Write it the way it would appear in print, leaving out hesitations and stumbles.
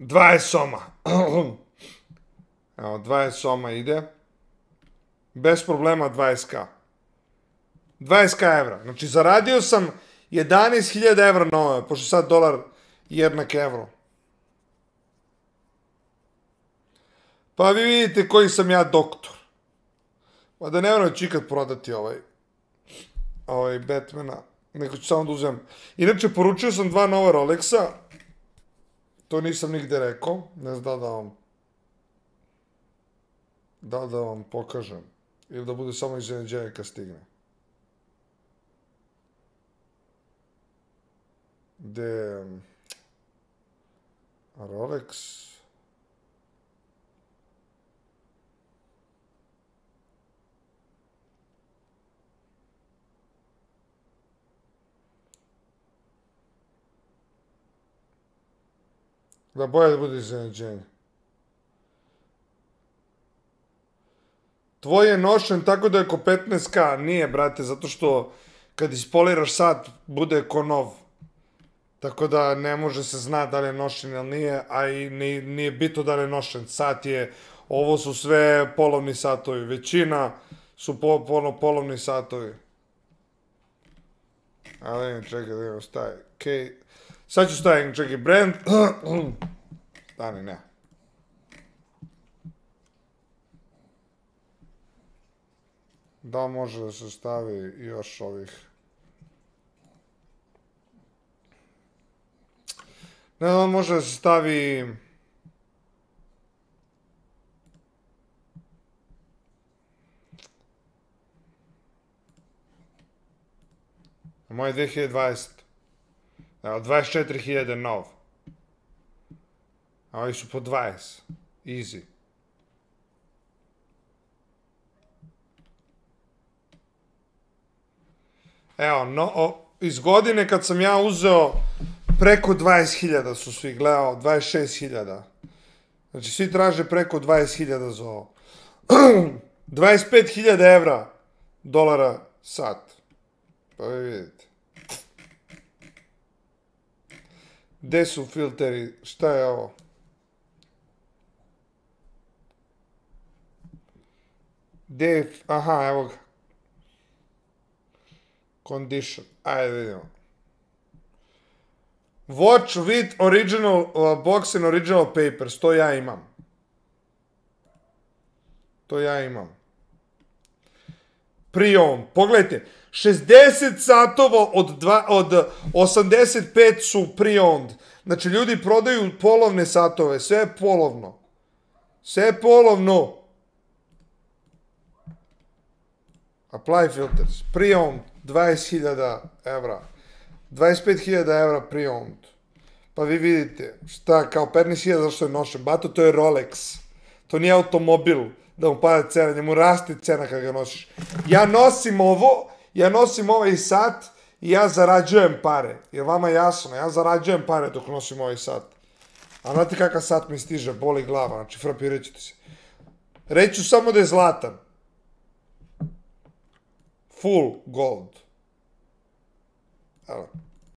20 soma. Evo, 20 soma ide. Bez problema 20k. 20k evra. Znači, zaradio sam 11.000 evra na ove, pošto sad dolar jednak evro. Pa vi vidite koji sam ja doktor. Pa da ne moram ću ikad prodati ovaj Batmana. Neko ću samo da uzem. Inače, poručio sam 2 nova Rolexa. To nisam nigde rekao. Ne znam da vam pokažem. Ili da bude samo iznenađenje kad stigne. Gde Rolex. Da bolje da bude iznenađenje. Tvoj je nošen tako da je oko 15k. Nije, brate, zato što kad ispoliraš sat, bude ko nov. Tako da ne može se zna da li je nošen ili nije, a i nije bitno da li je nošen. Sat je, ovo su sve polovni satovi. Većina su polovni satovi. Ali čekaj, da imam staje. Sad ću staviti, čekaj, brand. Stani, ne. Da može da se stavi još ovih. Ne znam, može da se stavi. Moje 2020. Evo, 24.000 nov. A ovi su po 20. Easy. Evo, iz godine kad sam ja uzeo preko 20.000 su svi gledao, 26.000. Znači, svi traže preko 20.000 za ovo. 25.000 evra, dolara sat. Pa vi vidite. Gde su filteri? Šta je ovo? Aha, evo ga. Condition. Ajde vidimo. Watch with original box and original papers. To ja imam. Pre-owned. Pogledajte. 60 satova od 85 su pre-owned. Znači, ljudi prodaju polovne satove. Sve je polovno. Apply filters. Pre-owned. 20.000 evra. 25.000 evra pre-owned. Pa vi vidite, šta, kao 15.000 zašto je nošen. Bato, to je Rolex. To nije automobil da mu pada cena, njemu raste cena kad ga nosiš. Ja nosim ovaj sat i ja zarađujem pare. Je vama jasno? Ja zarađujem pare dok nosim ovaj sat. A znate kakav sat mi stiže, boli glava, znači frapirat ćete se. Reću samo da je zlatan. Full gold. Evo.